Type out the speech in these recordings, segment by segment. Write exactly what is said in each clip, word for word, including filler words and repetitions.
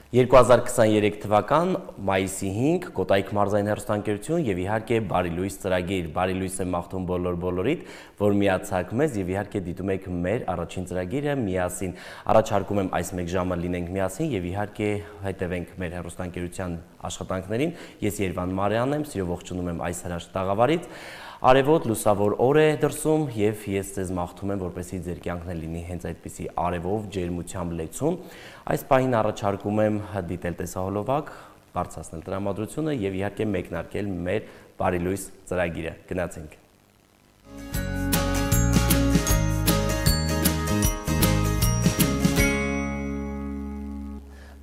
երկու հազար քսաներեք թվական մայիսի հինգ Կոտայք մարզային հեռուստաընկերություն եւ իհարկե Բարի լույս ծրագիր, Բարի լույս եմ մաղթում բոլոր բոլորիդ, որ միացաք մեզ եւ իհարկե դիտում եք մեր առաջին ծրագիրը միասին։ Առաջարկում եմ այս մեկ ժամը լինենք միասին եւ իհարկե հետևենք մեր հեռուստաընկերության աշխատանքներին։ Ես Երվան Մարյանն եմ, սիրով ողջունում եմ այս հրաշք տաղավարից։ Արևոտ լուսավոր օր է դրսում եւ ես ձեզ մաղթում եմ, որպեսզի ձեր կյանքն լինի հենց այդպիսի արևով, ջերմությամբ լեցուն։ Այս պահին առաջարկում եմ դիտել տեսահոլովակ, բարձրացնել տրամադրությունը եւ իհարկե մեկնարկել մեր Բարի լույս ծրագիրը։ Գնացինք։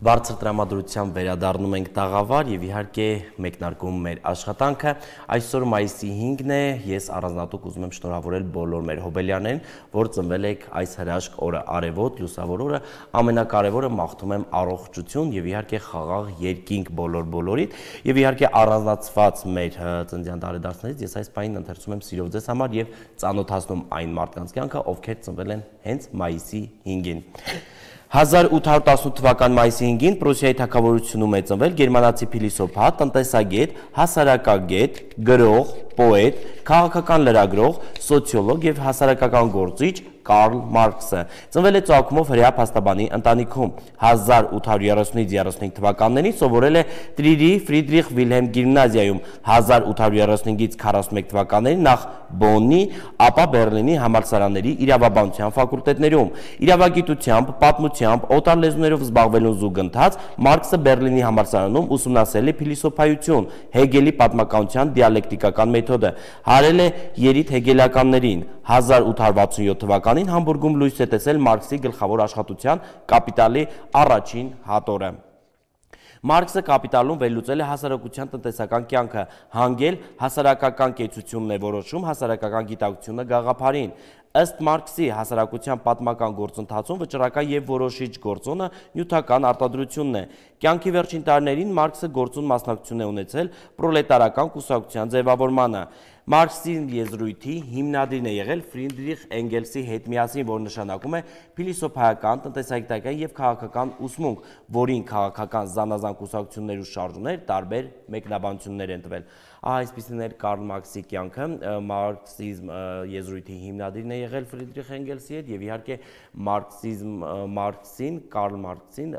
Բարձր տրամադրությամբ վերադառնում ենք տաղավար եւ իհարկե մեկնարկում մեր աշխատանքը։ Այսօր մայիսի հինգն է, ես առանձնատուկ ուզում եմ շնորհավորել բոլոր մեր հոբելյաներին, որ ծնվել եք այս հրաշք օրը, արևոտ, լուսավոր օրը, ամենակարևորը մաղթում եմ առողջություն եւ իհարկե խաղաղ երկինք բոլոր բոլորիդ եւ իհարկե առանձնացված մեր ծննդյան տարեդարձներից ես այս պահին ընթերցում եմ սիրով ձեզ համար եւ ծանոթացնում այն մարդկանց կյանքը, ովքեր ծնվել են հենց մայիսի հինգին։ հազար ութ հարյուր տասնութ թվական մայիսի հինգին Պրուսիայի թագավորությունում է ծնվել գերմանացի փիլիսոփա, տնտեսագետ, հասարակագետ, գրող, պոետ, քաղաքական լրագրող, սոցիոլոգ եւ հասարակական գործիչ Կարլ Մարքսը։ Ծնվել է ծագումով հրեա փաստաբանի ընտանիքում։ հազար ութ հարյուր երեսունից երեսունհինգ թվականներին սովորել է Տրիրի Ֆրիդրիխ Վիլհելմ գիմնազիայում, հազար ութ հարյուր երեսունհինգից քառասունմեկ թվականներին նախ Բոննի, ապա Բեռլինի համալսարանների իրավաբանության ֆակուլտետներում։ Իրավագիտությամբ, պատմությամբ, օտար լեզուներով զբաղվելուն զուգընթաց Մարքսը Բեռլինի համալսարանում ուսումնասիրել է փիլիսոփայություն, Հեգելի պատմականության դիալեկտիկական մեթոդը, հարել է երիտ հեգելականներին։ հազար ութ հարյուր վաթսունյոթ թվականին Համբուրգում լույս է տեսել Մարքսի գլխավոր աշխատության Կապիտալի առաջին հատորը։ Մարքսը Կապիտալում վերլուծել է հասարակության տնտեսական կյանքը, հանգել հասարակական կեցությունն է որոշում հասարակական գիտակցությունը գաղափարին։ Ըստ Մարքսի հասարակության պատմական գործընթացում վճռական եւ որոշիչ գործոնը նյութական արտադրությունն է։ Կյանքի վերջին տարիներին Մարքսը գործուն մասնակցություն է ունեցել պրոլետարական կուսակցության ձևավորմանը։ Մարքսի եզրույթի հիմնադիրն է եղել Ֆրիդրիխ Էնգելսի հետ միասին, որ նշանակում է փիլիսոփայական, տնտեսագիտական եւ քաղաքական ուսմունք, որին քաղաքական զանազան կուսակցություններ ու շարժումներ տարբեր մեկնաբանություններ են տվել։ Այսպիսին էր Կարլ Մարքսի կյանքը, մարքսիզմ եզրույթի հիմնադիրն է եղել Ֆրիդրիխ Էնգելսի հետ եւ իհարկե մարքսիզմ Մարքսին, Կարլ Մարքսին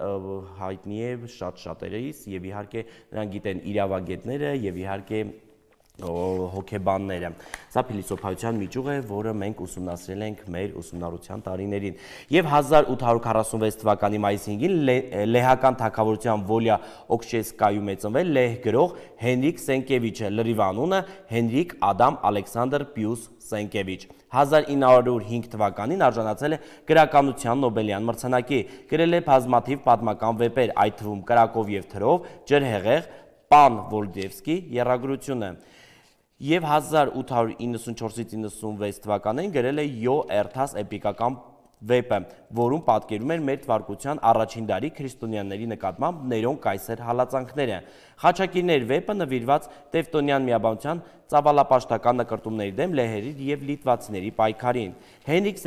հայտնի է շատ շատերից եւ իհարկե նրանք գիտեն իրավագետները եւ իհարկե հոգեբանները։ Սա փիլիսոփայության միջուղ է, որը մենք ուսումնասիրել ենք մեր ուսումնառության տարիներին։ Եվ հազար ութ հարյուր քառասունվեց թվականի մայիսի հինգին լեհական թագավորության Վոլյա Օքշեսկայում է ծնվել լեհ գրող Հենրիկ Սենկևիչը, լրիվ անունը Հենրիկ Ադամ Ալեքսանդր Պիուս Սենկևիչ։ հազար ինը հարյուր հինգ թվականին արժանացել է գրականության Նոբելյան մրցանակի, գրել է բազմաթիվ պատմական վեպեր, այդ թվում Կրակով եւ թրով, Ջրհեղեղ, Պան Վոլոդևսկի եռագրությունը։ Եվ հազար ութ հարյուր իննսունչորսից իննսունվեց թվականներին գրել է Յո Էրթաս էպիկական վեպը, որում պատկերում էր մեր թվարկության առաջին դարի քրիստոնյաների նկատմամբ Ներոն կայսեր հալածանքները։ Խաչակիրներ վեպը նվիրված Տևտոնյան միաբանության ծավալապաշտական նկրտումների դեմ լեհերի եւ լիտվացիների պայքարին։ Հենրիկ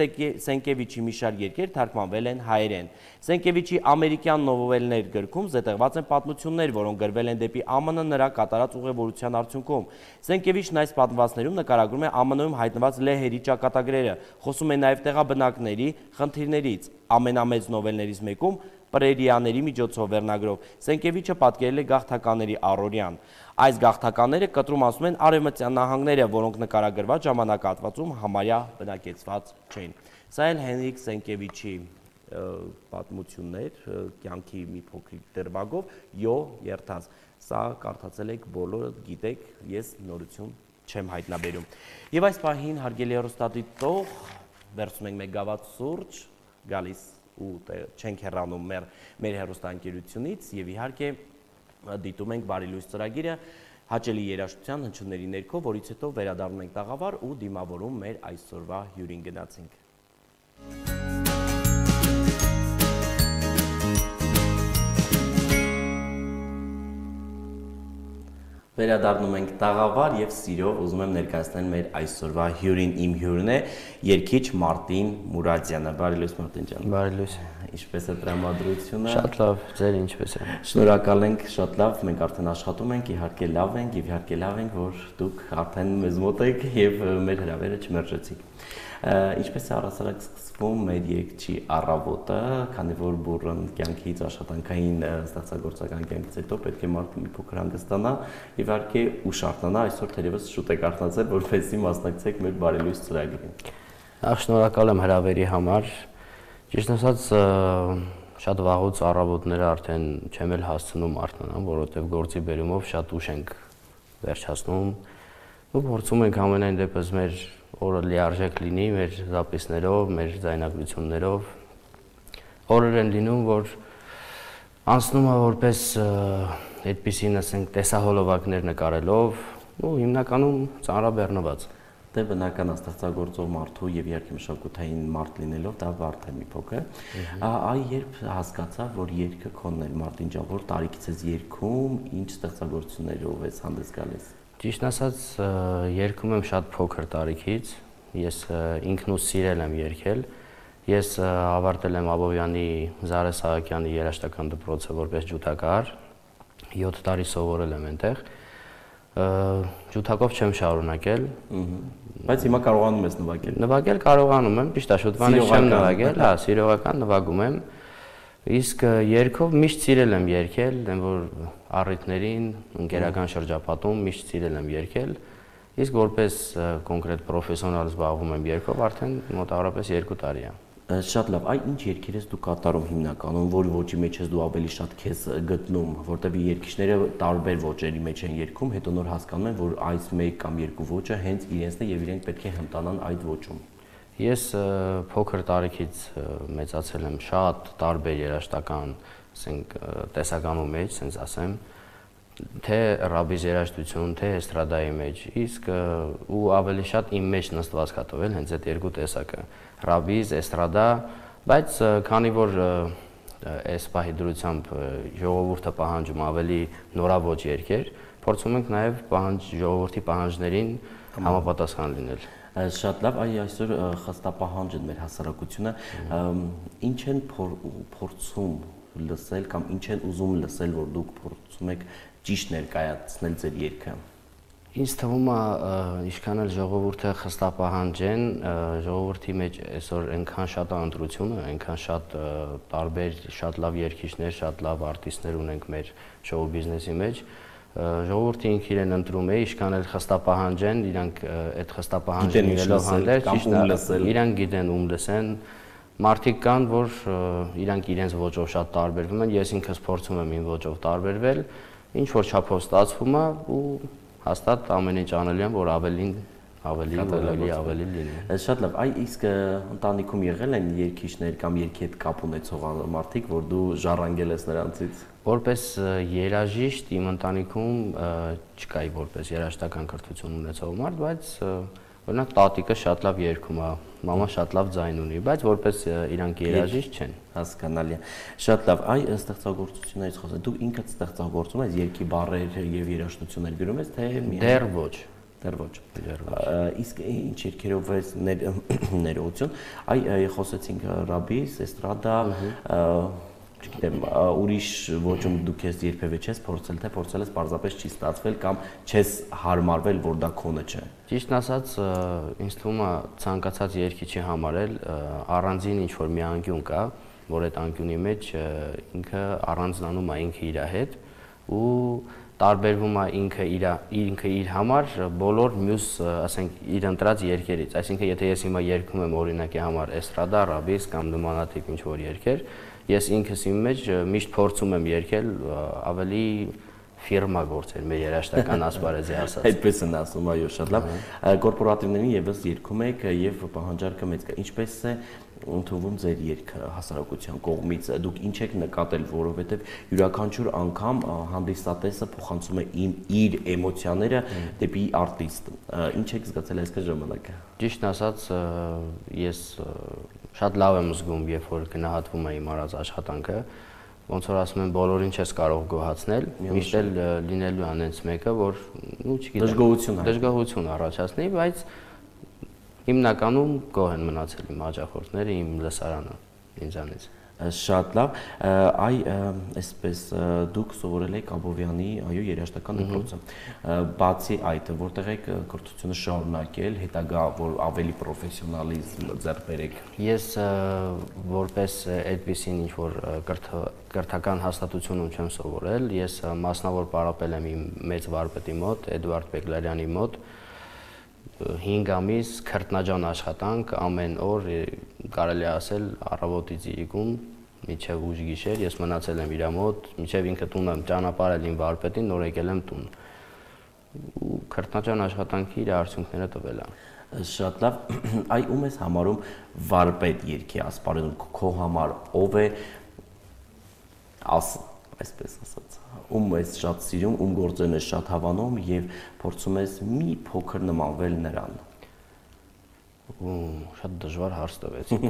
Սենկևիչի մի շարք երկեր թարգմանվել են հայերեն։ Սենկևիչի ամերիկյան նովելներ գրքում զետեղված են պատմություններ, որոնք գրվել են դեպի ԱՄՆ նրա կատարած ուղևորության արդյունքում։ Սենկևիչն այս պատմվածներում նկարագրում է ԱՄՆ-ում հայտնված լեհերի ճակատագրերը, խոսում է նաեւ տեղաբնակների խնդիրներից։ Ամենամեծ նովելներից մեկում Պրերիաների միջոցով վերնագրով Սենկևիչը պատկերել է գաղթականների առօրյան։ Այս գաղթականները կտրում ասում են արևմտյան նահանգները, որոնք նկարագրված ժամանակահատվածում համարյա բնակեցված չէին։ Սա էլ Հենրիկ Սենկևիչի պատմություններ, կյանքի մի փոքրիկ դրվագով Յո Էրթաս։ Սա կարդացել եք բոլորը, գիտեք, ես նորություն չեմ հայտնաբերում։ Եվ այս պահին հարգելի հեռուստադիտող, վերցնում ենք մեկ գավաթ սուրճ, գալիս ու չենք հեռանում մեր, մեր հեռուստաընկերությունից եւ իհարկե դիտում ենք Բարի լույս ծրագիրը հաճելի երաժշտության հնչյունների ներքո, որից հետո վերադառնում ենք տաղավար ու դիմավորում մեր այսօրվա հյուրին գնացինք։ Վերադառնում ենք տաղավար եւ սիրով ուզում եմ ներկայացնել մեր այսօրվա հյուրին իմ հյուրն է երգիչ Մարտին Մուրադյանը։ Բարի լույս Մարտին ջան։ Բարի լույս։ Ինչպես է տրամադրությունը։ Շատ լավ, ձեր ինչպես է։ Շնորհակալ ենք, շատ լավ, մենք արդեն աշխատում ենք, իհարկե լավ ենք եւ իհարկե լավ ենք, որ դուք արդեն մեզ մոտ եք եւ մեր հրավերը չմերժեցիք։ Ինչպես է առասարակ սկսվում մեր երգչի առավոտը, քանի որ բուրըն կյանքից աշխատանքային ստեղծագործական կյանքից հետո պետք է մարդը մի փոքր հանգստանա եւ իհարկե ուշ արթնանա, այսօր թերևս շուտ եք արթնացել, որպեսզի մասնակցեք մեր բարելույս ծրագրին։ Ախ, շնորհակալ եմ հրավերի համար։ Ճիշտ ասած, շատ վաղուց առավոտները արդեն չեմ էլ հասցնում արթնանալ, որովհետեւ գործի բերումով շատ ուշ ենք վերջացնում ու փորձում ենք ամենայն դեպս մեր օրը լիարժեք լինի մեր զապիսներով, մեր ձայնագրություններով։ Օրեր են լինում, որ անցնում է որպես այդպիսին, ասենք, տեսահոլովակներ նկարելով ու հիմնականում ծանրաբեռնված։ Դե բնական ստեղծագործող մարդու եւ իհարկե մշակութային մարդ լինելով դա բարդ է մի փոքր։ Այ երբ հասկացա, որ երգը քոնն է, Մարտին ջան, որ տարիքից ես երգում, ինչ ստեղծագործություններով ես հանդես գալիս։ Ճիշտ ասած, երգում եմ շատ փոքր տարիքից, ես ինքնուս սիրել եմ երգել, ես ավարտել եմ Աբովյանի Զարե Սահակյանի երաժշտական դպրոցը որպես ջութակահար, յոթ տարի սովորել եմ այնտեղ, ջութակով չեմ շարունակել, բայց հիմա կարողանում ես նվագել։ Նվագել կարողանում եմ, ճիշտ է, շուտվանից չեմ նվագել, հա, սիրողական նվագում եմ։ Իսկ երգով միշտ սիրել եմ երգել, դեմ որ առիթներին, ընկերական շրջապատում միշտ սիրել եմ երգել, իսկ որպես կոնկրետ պրոֆեսիոնալ զբաղվում եմ երգով արդեն մոտավորապես երկու տարի է։ Շատ լավ, այ ինչ երգեր ես դու կատարում հիմնականում, որ ոճի մեջ ես դու ավելի շատ քեզ գտնում, որտեղ երգիչները տարբեր ոճերի մեջ են երգում, հետո նոր հասկանում են, որ այս մեկ կամ երկու ոճը հենց իրենցն է եւ իրենք պետք է հմտանան այդ ոճում։ Ես փոքր տարիքից մեծացել եմ շատ տարբեր երաժշտական, ասենք, տեսականու մեջ, ասենց ասեմ, թե ռաբիզ երաժշտություն, թե էստրադայի մեջ, իսկ ու ավելի շատ իմ մեջ նստված կա տվել հենց այդ երկու տեսակը, ռաբիզ, էստրադա, բայց քանի որ այս պահի դրությամբ ժողովուրդը պահանջում ավելի նորաոճ երգեր, փորձում ենք նաև պահանջ ժողովրդի պահանջներին համապատասխան լինել։ Շատ լավ, այ այսօր խստապահանջ են մեր հասարակությունը, ինչ են փորձում լսել կամ ինչ են ուզում լսել, որ դուք փորձում եք ճիշտ ներկայացնել ձեր երգը։ Ինձ թվում է, ինչքան էլ ժողովուրդը խստապահանջ են, ժողովրդի մեջ այսօր այնքան շատ է ընտրությունը, այնքան շատ տարբեր, շատ լավ երգիչներ, շատ լավ արտիստներ ունենք մեր շոու բիզնեսի մեջ, ժողովուրդը ինքը իրեն ընտրում է, ինչքան էլ խստապահանջ են, իրանք այդ խստապահանջը լինելով հանդերձ, իրանք գիտեն ում լսեն, մարդիկ կան, որ իրանք իրենց ոճով շատ տարբերվում են, ես ինքս փորձում եմ իմ ոճով տարբերվել, ինչ որ չափով ստացվում է ու հաստատ ամեն ինչ անել եմ, որ ավելին ավելի ավելի ավելի լինի։ Շատ լավ, այ իսկ ընտանիքում եղել են երգիչներ կամ երգի հետ կապ ունեցող մարդիկ, որ դու ժառանգել ես նրանցից։ Որպես երաժիշտ իմ ընտանիքում չկայի որպես երաժշտական կրթություն ունեցող մարդ, բայց օրինակ տատիկը շատ լավ երգում է, մամա շատ լավ ձայն ունի, բայց որպես իրանք երաժիշտ չեն։ Հասկանալի է։ Շատ լավ, այ ստեղծագործություններից խոսել, դու ինքդ ստեղծագործում ես երգի բառեր եւ երաժշտություններ գրում ես, թե դեռ ոչ։ Դեռ ոչ։ Իսկ ինչ երգերով ես ներողություն, այ խոսեցինք ռաբիս, էստրադա, չգիտեմ, ուրիշ ոճում դուք ես երբևէ չես փորձել, թե փորձել ես պարզապես չի ստացվել կամ չես հարմարվել, որ դա քոնը չէ։ Ճիշտն ասած, ինձ թվում է ցանկացած երգիչի համար էլ առանձին ինչ որ մի անկյուն կա, որ այդ անկյունի մեջ ինքը առանձնանում է ինքը իր հետ ու տարբերվում է ինքը իր ինքը իր համար բոլոր մյուս, ասենք, իր ընտրած երգերից, այսինքն եթե ես հիմա երգում եմ օրինակի համար էստրադա, ռաբիս կամ նմանատիպ ինչ որ երգեր, ես ինքս իմ մեջ միշտ փորձում եմ երգել ավելի ֆիրմա գործեր մեր երաժշտական ասպարեզի ասած։ Այդպես են ասում, այո, շատ լավ։ Կորպորատիվներին եւս երգում եք եւ պահանջարկը մեծ կա։ Ինչպես է ընդունվում ձեր երգը հասարակության կողմից, դուք ինչ եք նկատել, որովհետեւ յուրաքանչյուր անգամ հանդիսատեսը փոխանցում է իր էմոցիաները դեպի արտիստ։ Ինչ եք զգացել այսքան ժամանակ։ Ճիշտն ասած, ես շատ լավ եմ զգում, երբ որ գնահատվում է իմ արած աշխատանքը, ոնց որ ասում են, բոլորին չես կարող գոհացնել, միշտ էլ լինելու է այնց մեկը, որ ու չգիտեմ, դժգոհություն դժգոհություն առաջացնի, բայց հիմնականում գոհ են մնացել իմ հաճախորդները, իմ լսարանը ինձանից։ Շատ լավ, այ այսպես դուք սովորել եք Աբովյանի այո երաժշտական դպրոցը, բացի այդ որտեղ եք կրթությունը շարունակել, հետագա որ ավելի պրոֆեսիոնալիզմ ձեռք բերեք։ Ես որպես այդպիսին ինչ որ կրթական հաստատությունում չեմ սովորել, ես մասնավոր պարապել եմ իմ մեծ վարպետի մոտ, Էդվարդ Բեգլարյանի մոտ, հինգ ամիս քրտնաջան աշխատանք ամեն օր, կարելի է ասել առավոտից իրիկուն մինչև ուշ գիշեր, ես մնացել եմ իր մոտ, մինչև ինքը տուն եմ ճանապարհել իմ վարպետին, նոր եկել եմ տուն։ Ու քրտնաջան աշխատանքի իր արդյունքները տվել է։ Շատ լավ, այ ում ես համարում վարպետ երգի ասպարեզում, քո համար ով է աս այսպես ասած, ում ես շատ սիրում, ում գործերն ես շատ հավանում եւ փորձում ես մի փոքր նմանվել նրան։ Ու շատ դժվար հարց տվեցիք,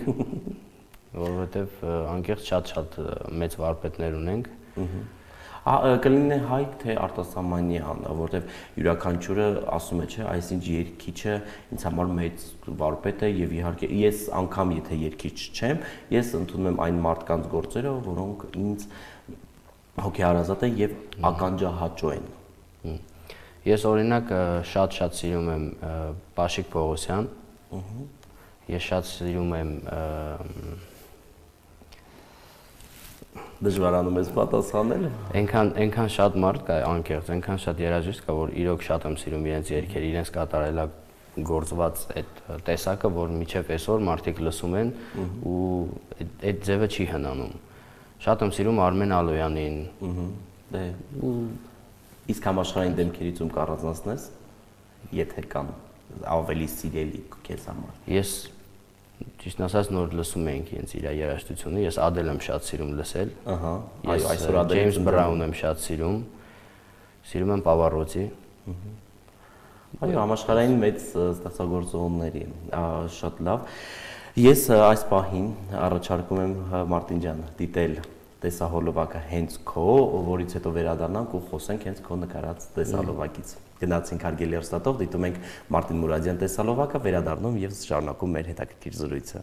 որովհետեւ անկեղծ շատ-շատ մեծ վարպետներ ունենք։ Կլինի հայ թե արտասահմանյան, որովհետեւ յուրաքանչյուրը ասում է, չէ, այսինչ երգիչը ինձ համար մեծ վարպետ է եւ իհարկե ես անգամ եթե երգիչ չեմ, ես ընդունում եմ այն մարդկանց գործերը, որոնք ինձ հոգեհարազատ են եւ ականջահաճո են։ Ես օրինակ շատ-շատ սիրում եմ Պաշիկ Պողոսյան։ Ես շատ սիրում եմ Դժվարանում ես պատասխանել։ Այնքան այնքան շատ մարդ կա անկեղծ, այնքան շատ երաժիշտ կա, որ իրոք շատ եմ սիրում իրենց երգերը, իրենց կատարելագործված այդ տեսակը, որ միջև այսօր մարդիկ լսում են ու այդ ձևը չի հնանում։ Շատ եմ սիրում Արմեն Ալոյանին։ Դե իսկ համաշխարհային դեմքերից ում կառանձնացնես, եթե կան ավելի սիրելի քեզ համար։ Ես ճիշտ ասած նոր լսում էինք ինձ իր երաժշտությունը, ես Ադել եմ շատ սիրում լսել։ Ահա, այո, այսօր Ադել Ջեյմս Բրաուն եմ շատ սիրում։ Սիրում եմ Պավարոտի։ Այո, համաշխարհային մեծ ստեղծագործողների, շատ լավ։ Ես այս պահին առաջարկում եմ Մարտին ջան դիտել տեսահոլովակը հենց քո, որից հետո վերադառնանք ու խոսենք հենց քո նկարած տեսահոլովակից։ Գնացինք հարգելի հեռուստատող, դիտում ենք Մարտին Մուրադյան տեսահոլովակը, վերադառնում եւ շարունակում մեր հետաքրքիր զրույցը։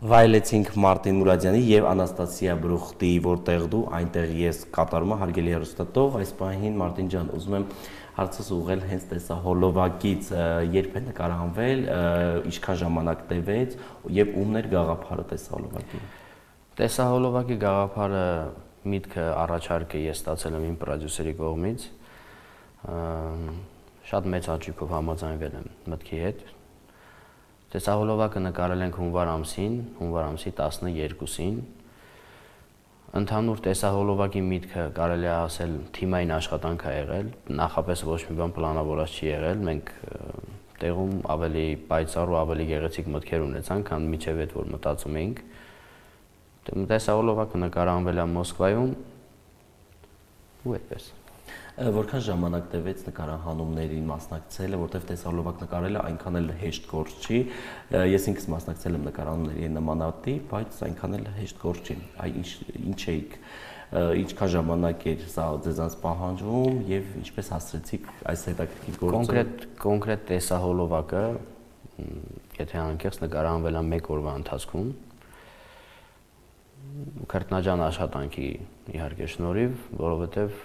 Վայելեցինք Մարտին Մուրադյանի եւ Անաստասիա Բրուխտի, որտեղ դու այնտեղ ես կատարում եմ հարգելի հեռուստատող, այս պահին Մարտին ջան, ուզում եմ հարցս ուղղել հենց տեսահոլովակից, երբ է նկարահանվել, ինչքան ժամանակ տևեց եւ ումն էր գաղափարը տեսահոլովակի։ Տեսահոլովակի գաղափարը միտքը առաջարկը ես ստացել եմ իմ պրոդյուսերի կողմից, շատ մեծ հաճույքով համաձայնվել եմ մտքի հետ։ Տեսահոլովակը նկարել ենք հունվար ամսին, հունվար ամսի տասներկուսին։ Ընդհանուր տեսահոլովակի միտքը կարելի է ասել թիմային աշխատանք է եղել, նախապես ոչ մի բան պլանավորած չի եղել, մենք տեղում ավելի պայծառ ու ավելի գեղեցիկ մտքեր ունեցանք, քան մինչև այդ որ մտածում էինք։ Տեսահոլովակը նկարահանվել է Մոսկվայում ու այդպես։ Որքան ժամանակ տևեց նկարահանումներին մասնակցելը, որտեղ տեսահոլովակ նկարելը այնքան էլ հեշտ գործ չի։ Ես ինքս մասնակցել եմ նկարահանումների նմանատիպ, բայց այնքան էլ հեշտ գործ չի։ Այ ինչ էիք, ինչքան ժամանակ էր սա ձեզանց պահանջվում եւ ինչպես հասցրեցիք այս հետաքրքիր գործը։ Կոնկրետ կոնկրետ տեսահոլովակը, եթե անկեղծ նկարահանվել է մեկ օրվա ընթացքում, քրտնաջան աշխատանքի իհարկե շնորհիվ, որովհետև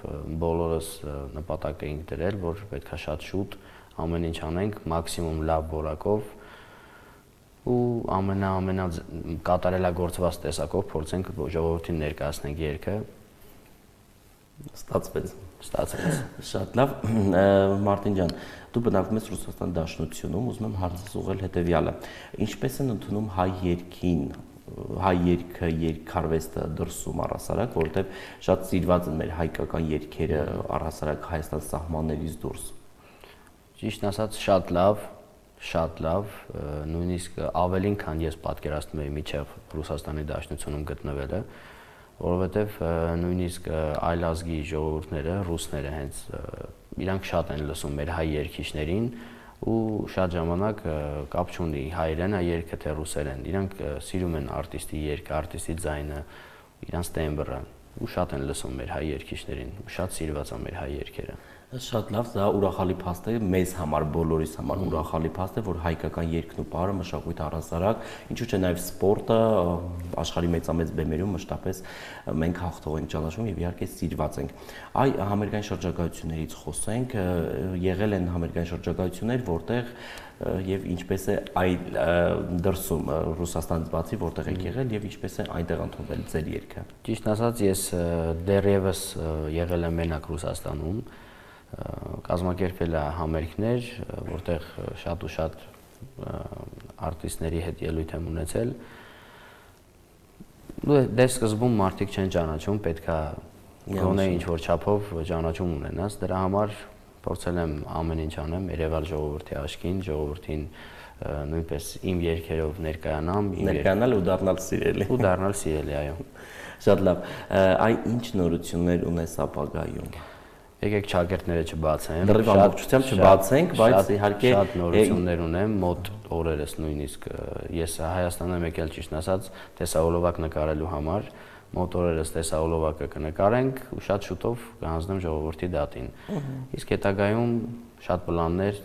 բոլորս նպատակ էինք դրել, որ պետքա շատ շուտ ամեն ինչ անենք մաքսիմում լավ որակով ու ամենա ամենա կատարելագործված տեսակով փորձենք ժողովրդին ներկայացնենք երգը։ Ստացվեց։ Ստացվեց։ Շատ լավ, Մարտին ջան, դու բնակվում ես Ռուսաստան Դաշնությունում, ուզում եմ հարցս ուղղել հետեւյալը. ինչպես են ընդունում հայ երգին, հայ երգը, երգարվեստը դրսում առհասարակ, որովհետև շատ սիրված են մեր հայկական երգերը առհասարակ Հայաստան սահմաններից դուրս։ Ճիշտ ասած, շատ լավ, շատ լավ, նույնիսկ ավելին, քան ես պատկերացնում էի միջև Ռուսաստանի Դաշնությունում գտնվելը, որովհետև նույնիսկ այլ ազգի ժողովուրդները, ռուսները հենց իրանք շատ են լսում մեր հայ երգիչներին, ու շատ ժամանակ կապ չունի հայերեն է երգը թե ռուսերեն, իրանք սիրում են արտիստի երգը, արտիստի ձայնը, իրանց տեմբրը ու շատ են լսում մեր հայ երգիչներին, շատ սիրված է մեր հայ երգերը։ Շատ լավ, դա ուրախալի փաստ է մեզ համար, բոլորիս համար ուրախալի փաստ է, որ հայկական երգն ու պարը մշակույթ առասարակ, ինչու՞ չէ նաև սպորտը աշխարհի մեծամեծ բեմերում մշտապես մենք հաղթող ենք ճանաչում եւ իհարկե սիրված ենք։ Այ համերգային շրջագայություններից խոսենք, եղել են համերգային շրջագայություններ, որտեղ եւ ինչպես է այլ դրսում Ռուսաստանից բացի որտեղ եք եղել եւ ինչպես է այնտեղ ընդունվել ձեր երգը։ Ճիշտ ասած, ես դեռևս եղել եմ մենակ Ռուսաստանում, կազմակերպել է համերգներ, որտեղ շատ ու շատ արտիստների հետ ելույթ եմ ունեցել։ Դե սկզբում մարդիկ չեն ճանաչում, պետքա գոնե ինչ-որ չափով ճանաչում ունենաս, դրա համար փորձել եմ ամեն ինչ անեմ, երևալ ժողովրդի աչքին, ժողովրդին նույնպես իմ երգերով ներկայանամ, ներկայանալ ու դառնալ սիրելի։ Ու դառնալ սիրելի, այո։ Շատ լավ։ Այ ինչ նորություններ ունես ապագայում։ Եկեք ճակերտները չբացեմ։ Դեռ ամբողջությամբ չբացենք, բայց իհարկե շատ նորություններ ունեմ, մոտ օրերս նույնիսկ ես Հայաստան եմ եկել ճիշտ ասած տեսահոլովակ նկարելու համար, մոտ օրերս տեսահոլովակը կնկարենք ու շատ շուտով կհանձնեմ ժողովրդի դատին։ Իսկ հետագայում շատ պլաններ,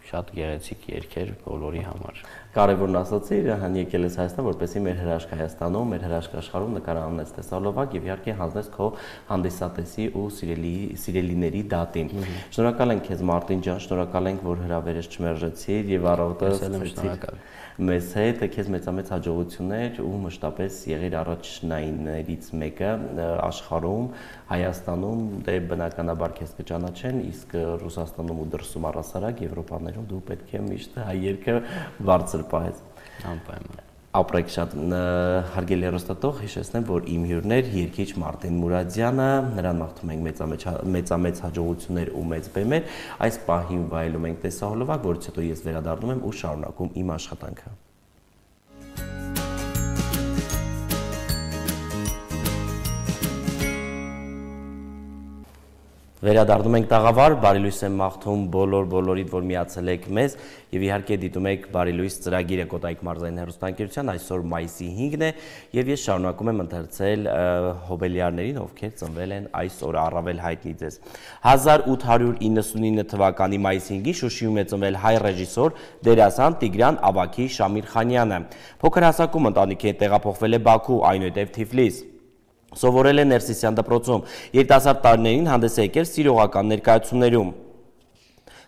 շատ գեղեցիկ երգեր բոլորի համար։ Կարևորն ասացի, հան եկել ես Հայաստան, որպեսզի մեր հրաշք Հայաստանում, մեր հրաշք աշխարհում նկարանես տեսահոլովակ եւ իհարկե հանձնես քո հանդիսատեսի ու սիրելի սիրելիների դատին։ Շնորհակալ ենք քեզ Մարտին ջան, շնորհակալ ենք, որ հրավերս չմերժեցիր եւ առավոտը շնորհակալ մեզ հետ, քեզ մեծամեծ հաջողություններ ու մշտապես եղիր առաջնայիններից մեկը աշխարհում, Հայաստանում, դե բնականաբար քեզ կճանաչեն, իսկ Ռուսաստանում ու դրսում առասարակ Եվրոպաներում դու պետք է միշտ հայ երգը բարձր պահես։ Անպայման։ Ապրեք շատ հարգելի հեռուստատող, հիշեցնեմ, որ իմ հյուրն էր երգիչ Մարտին Մուրադյանը, նրան մաղթում ենք մեծամեծ մեծամեծ հաջողություններ ու մեծ բեմեր։ Այս պահին վայելում ենք տեսահոլովակ, որից հետո ես վերադառնում եմ ու շարունակում իմ աշխատանքը։ Վերադառնում ենք տաղավար, բարի լույս եմ մաղթում բոլոր բոլորիդ, որ միացել եք մեզ եւ իհարկե դիտում եք բարի լույս ծրագիրը Կոտայք մարզային հեռուստաընկերության, այսօր մայիսի հինգն է եւ ես շարունակում եմ ընթերցել հոբելյարներին, ովքեր ծնվել են այս օրը, առավել հայտնի ձեզ։ հազար ութ հարյուր իննսունինը թվականի մայիսի հինգին Շուշիում է ծնվել հայ ռեժիսոր, դերասան Տիգրան Ավագի Շամիրխանյանը։ Փոքր հասակում ընտանիքի հետ տեղափոխվել է Բաքու, այնուհետև Թիֆլիս։ Սովորել է Ներսիսյան դպրոցում, երիտասարդ տարիներին հանդես է եկել սիրողական ներկայացումներում։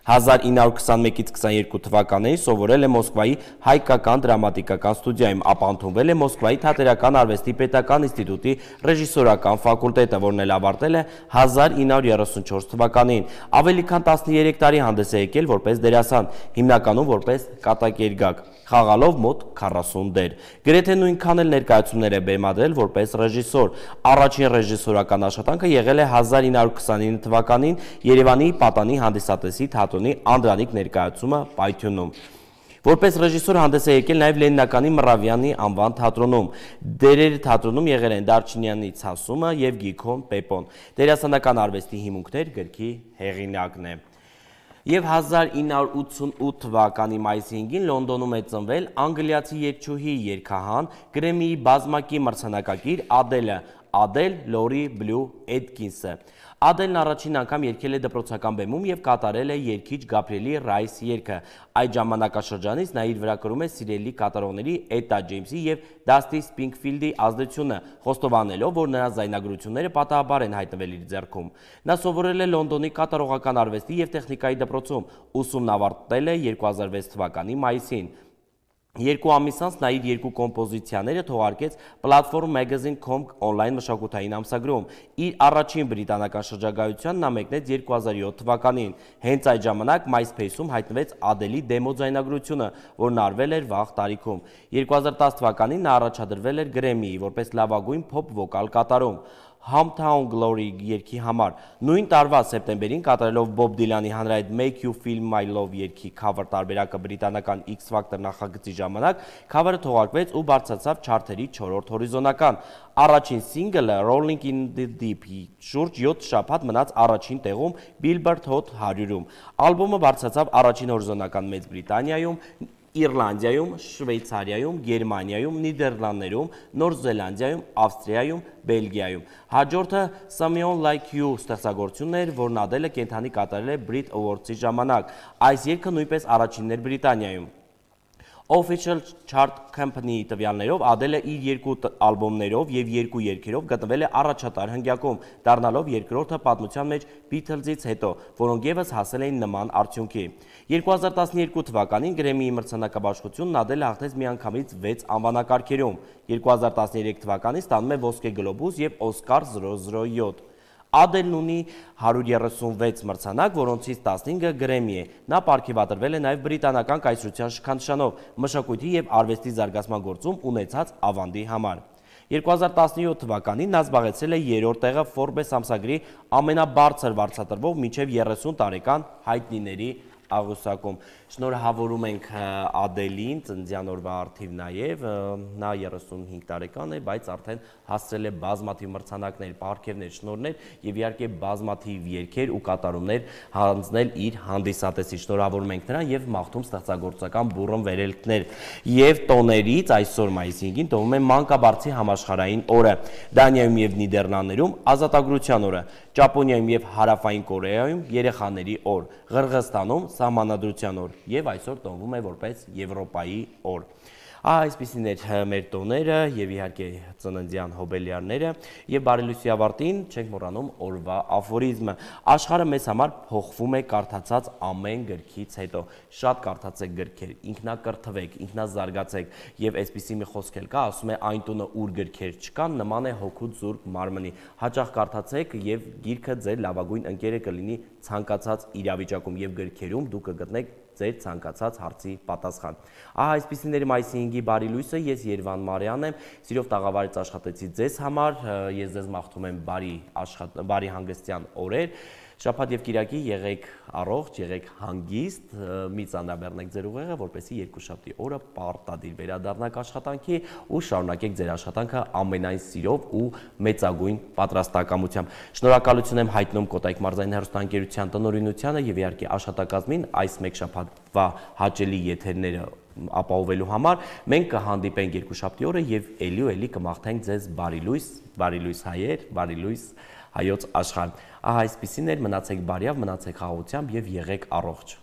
հազար ինը հարյուր քսանմեկից քսաներկու թվականներին սովորել է Մոսկվայի հայկական դրամատիկական ստուդիայում, ապա ընդունվել է Մոսկվայի թատերական արվեստի պետական ինստիտուտի ռեժիսորական ֆակուլտետը, որն էլ ավարտել է հազար ինը հարյուր երեսունչորս թվականին։ Ավելի քան տասներեք տարի հանդես է եկել որպես դերասան, հիմնականում որպես կատակերգակ, խաղալով մոտ քառասուն դեր։ Գրեթե նույնքան էլ ներկայացումներ է բեմադրել որպես ռեժիսոր։ Առաջին ռեժիսորական աշխատանքը եղել է հազար ինը հարյուր քսանինը թվականին Երևանի Պատանի հանդիսատեսի թատրոնի Անդրանիկ ներկայացումը Պայթյունում։ Որպես ռեժիսոր հանդես է եկել նաև Լենինականի Մռավյանի անվան թատրոնում։ Դերերը թատրոնում եղել են Դարչինյանի Ցասումը եւ Գիքոն Պեպոն։ Դերասանական արվեստի հիմունքներ գրքի հեղինակն է։ Եվ հազար ինը հարյուր ութսունութ թվականի մայիսի հինգին Լոնդոնում է ծնվել անգլիացի երգչուհի, երգահան, Գրեմիի բազմակի մրցանակակիր Ադելը, Ադել Լորի Բլու Էդկինսը։ Ադելն առաջին անգամ երգել է դպրոցական բեմում եւ կատարել է երգիչ Գաբրիելի Ռայս երգը։ Այդ ժամանակաշրջանից նա իր վրա կրում է սիրելի կատարողների Էտա Ջեյմսի եւ Դաստի Սպրինգֆիլդի ազդեցությունը, խոստովանելով, որ նրանց զայնագրությունները պատահաբար են հայտնվել իր ձեռքում։ Նա սովորել է Լոնդոնի կատարողական արվեստի եւ տեխնիկայի դպրոցում, ուսումն ավարտել է երկու հազար վեց թվականի մայիսին։ Երկու ամիս անց նա իր երկու կոմպոզիցիաները թողարկեց Platform Magazine dot com on-line մշակութային ամսագրում։ Իր առաջին բրիտանական շրջագայության նա մեկնեց երկու հազար յոթ թվականին։ Հենց այդ ժամանակ MySpace-ում հայտնվեց Ադելի դեմո ձայնագրությունը, որն արվել էր վաղ տարիքում։ երկու հազար տասը թվականին նա առաջադրվել էր Գրեմիի որպես լավագույն փոփ վոկալ կատարում։ Hometown Glory երգի համար։ Նույն տարվա սեպտեմբերին կատարելով Bob Dylan-ի հանրայիտ Make You Feel My Love երգի cover տարբերակը բրիտանական X Factor նախագծի ժամանակ cover-ը թողարկվեց ու բարձրացավ չարթերի չորրորդ հորիզոնական։ Առաջին սինգլը Rolling in the Deep-ի շուրջ յոթ շաբաթ մնաց առաջին տեղում Billboard Hot հարյուրում։ Ալբոմը բարձրացավ առաջին հորիզոնական Մեծ Բրիտանիայում, Իռլանդիայում, Շվեյցարիայում, Գերմանիայում, Նիդերլանդներում, Նոր Զելանդիայում, Ավստրիայում, Բելգիայում։ Հաջորդը Someone Like You ստեղծագործությունն էր, որն Ադելը կենդանի կատարել է Brit Awards-ի ժամանակ։ Այս երգը նույնպես առաջինն էր Բրիտանիայում։ Official Chart Company-ի տվյալներով Ադելը իր երկու ալբոմներով և երկու երգերով գտնվել է առաջատար հնգյակում, դառնալով երկրորդը պատմության մեջ Beatles-ից հետո, որոնք ևս հասել էին նման արդյունքի։ երկու հազար տասներկու թվականին Գրեմմիի մրցանակաբաշխությունն Ադելը հաղթեց միանգամից վեց անվանակարգերում։ երկու հազար տասներեք թվականին ստանում է ոսկե գլոբուս և Օսկար զրո զրո յոթ։ Ադելն ունի հարյուր երեսունվեց մրցանակ, որոնցից տասնհինգը Գրեմմի է։ Նա պարգևատրվել է նաև բրիտանական կայսրության շքանշանով մշակույթի և արվեստի զարգացման գործում ունեցած ավանդի համար։ երկու հազար տասնյոթ թվականին նա զբաղեցրել է երրորդ տեղը Forbes ամսագրի ամենաբարձր վարձատրվող մինչև երեսուն տարեկան հայտնիների աղյուսակում։ Շնորհավորում ենք Ադելին, ծննդյան օրվա առթիվ նաև, նա երեսունհինգ տարեկան է, բայց արդեն հասցրել է բազմաթիվ մրցանակներ, պարգևներ, շնորհներ և իհարկե բազմաթիվ երգեր ու կատարումներ հանձնել իր հանդիսատեսին։ Շնորհավորում ենք նրան և մաղթում ստեղծագործական բուռն վերելքներ։ Եվ տոներից այսօր մայիսի հինգին տոնում է Մանկաբարձի համաշխարհային օրը, Դանիայում և Նիդերլանդներում ազատագրության օրը, Ճապոնիայում և Հարավային Կորեայում երեխաների օր, Ղրղըզստանում Սահմանադրության օր և այսօր տոնվում է որպես Եվրոպայի օր։ Այսպիսին էր մեր տոները և իհարկե ծննդյան հոբելյարները և բարելույսի ավարտին չենք մոռանում օրվա աֆորիզմը։ Աշխարհը մեզ համար փոխվում է կարդացած ամեն գրքից հետո։ Շատ կարդացեք գրքեր, ինքնակրթվեք, ինքնազարգացեք և այսպիսի մի խոսք էլ կա, ասում է այն տունը, ուր գրքեր չկան, նման է հոգուց զուրկ մարմնի։ Հաճախ կարդացեք և գիրքը ձեր լավագույն ընկերը կլինի ցանկացած իրավիճակում և գրքերում դուք կգտնեք ձեր ցանկացած հարցի պատասխան։ Ահա այսպիսին էր մայիսի հինգի բարի լույսը, ես Երվան Մարյանն եմ, սիրով տաղավարից աշխատեցի ձեզ համար, ես ձեզ մաղթում եմ բարի, աշխատ, բարի հանգստյան օրեր, շաբաթ և կիրակի եղեք առողջ, եղեք հանգիստ, մի ծանրաբեռնեք ձեր ուղեղը, որպեսզի երկուշաբթի օրը պարտադիր վերադառնաք աշխատանքի ու շարունակեք ձեր աշխատանքը ամենայն սիրով ու մեծագույն պատրաստակամությամբ։ Շնորհակալություն եմ հայտնում Կոտայք մարզային հեռուստաընկերության տնօրինությանը և իհարկե աշխատակազմին այս մեկ շաբաթվա հաճելի եթերները ապահովելու համար։ Մենք կհանդիպենք երկուշաբթի օրը և էլի ու էլի կմաղթենք ձեզ բարի լույս, բարի լույս հայեր, բարի լույս հայոց աշխարհ։ Ահա այսպիսին էր, մնացեք բարյավ, մնացեք խաղաղությամբ և եղեք առողջ։